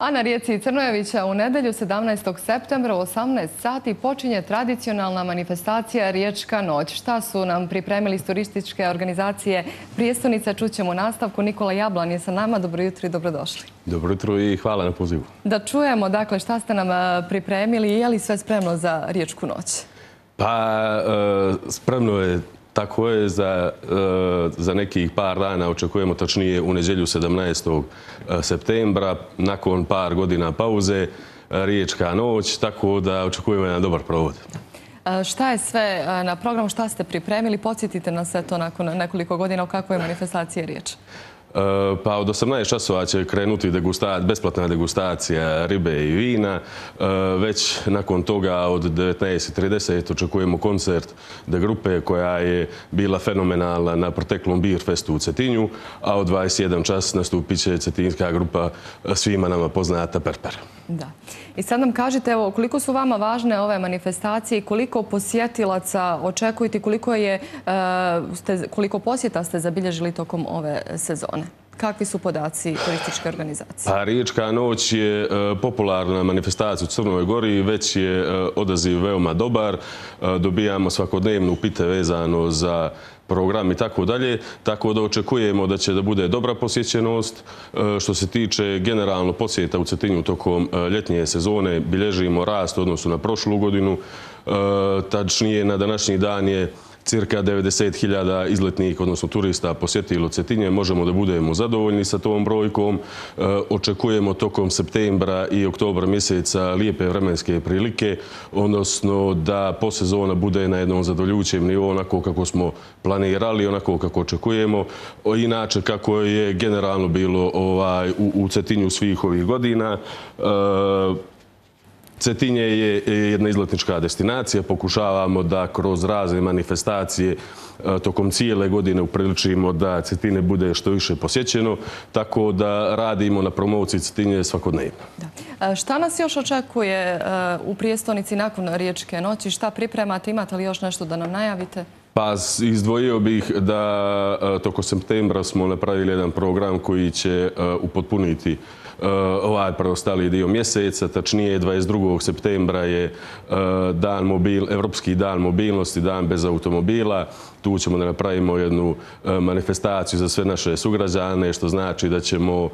A na rijeci Crnojevića u nedjelju 17. septembra u 18 sati počinje tradicionalna manifestacija Riječka noć. Šta su nam pripremili iz turističke organizacije Prijestolnica, čućemo u nastavku. Nikola Jablan je sa nama. Dobro jutro i dobrodošli. Dobro jutro i hvala na pozivu. Da čujemo, dakle, šta ste nam pripremili i je li sve spremno za Riječku noć? Pa, spremno je. Tako je, za nekih par dana očekujemo, tačnije u nedjelju 17. septembra, nakon par godina pauze, Riječka noć, tako da očekujemo jedan dobar provod. Šta je sve na programu, šta ste pripremili? Podsjetite nas sve to nakon nekoliko godina, o kakvoj manifestaciji je riječ. Pa od 18 časova će krenuti besplatna degustacija ribe i vina. Već nakon toga od 19:30 očekujemo koncert de grupe koja je bila fenomenalna na proteklom Beer Festu u Cetinju, a od 21 čas nastupit će cetinjska grupa svima nama poznata Perper. Da. I sad nam kažite, evo, koliko su vama važne ove manifestacije i koliko posjetilaca očekujete, koliko posjeta ste zabilježili tokom ove sezone? Kakvi su podaci turističke organizacije? Pa, Riječka noć je popularna manifestacija u Crnoj Gori, već je odaziv veoma dobar. Dobijamo svakodnevno upite vezano za program i tako dalje, tako da očekujemo da će da bude dobra posjećenost. Što se tiče generalno posjeta u Cetinju tokom ljetnje sezone, bilježimo rast u odnosu na prošlu godinu. Tačnije, na današnji dan je cirka 90.000 izletnih, odnosno turista, posjetilo Cetinje. Možemo da budemo zadovoljni sa tom brojkom. Očekujemo tokom septembra i oktobra mjeseca lijepe vremenske prilike, odnosno da posezona bude na jednom zadovoljujućem nivou, onako kako smo planirali, onako kako očekujemo. Inače, kako je generalno bilo u Cetinju svih ovih godina, Cetinje je jedna izletnička destinacija. Pokušavamo da kroz razne manifestacije tokom cijele godine upriličimo da Cetinje bude što više posjećeno, tako da radimo na promociji Cetinje svakodnevno. Šta nas još očekuje u Prijestolnici nakon Riječke noći? Šta pripremate? Imate li još nešto da nam najavite? Pa, izdvojio bih da toko septembra smo napravili jedan program koji će upotpuniti ovaj preostali dio mjeseca. Tačnije, 22. septembra je Evropski dan mobilnosti, dan bez automobila. Tu ćemo da napravimo jednu manifestaciju za sve naše sugrađane, što znači da ćemo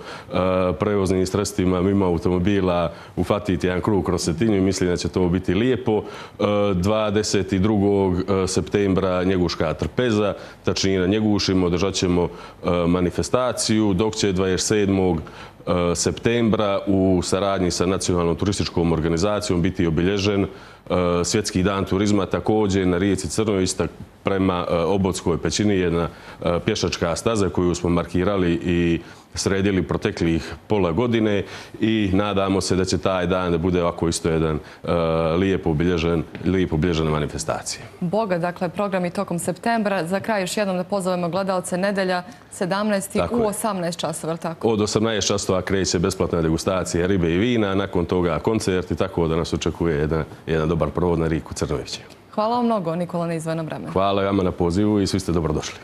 prevoznim sredstvima mimo automobila ufatiti jedan krug kroz Cetinju i mislim da će to biti lijepo. 22. septembra Njeguška trpeza, tačnije na Njegušima održat ćemo manifestaciju, dok će 27. septembra u saradnji sa Nacionalnom turističkom organizacijom biti obilježen Svjetski dan turizma, također na rijeci Crnojević prema Obodskoj pećini, jedna pješačka staza koju smo markirali i sredili proteklih pola godine i nadamo se da će taj dan da bude ovako isto jedan lijepo obilježena manifestacija. Boga, dakle, program i tokom septembra. Za kraj još jednom da pozovemo gledalce, nedjelja 17. u 18 časova, je li tako? Od 18 časova kreće besplatna degustacija ribe i vina, nakon toga koncerti, tako da nas očekuje jedan dobar provod na rijeku Crnojevića. Hvala vam mnogo, Nikola, na izdvojenom vremenu. Hvala vama na pozivu i svi ste dobrodošli.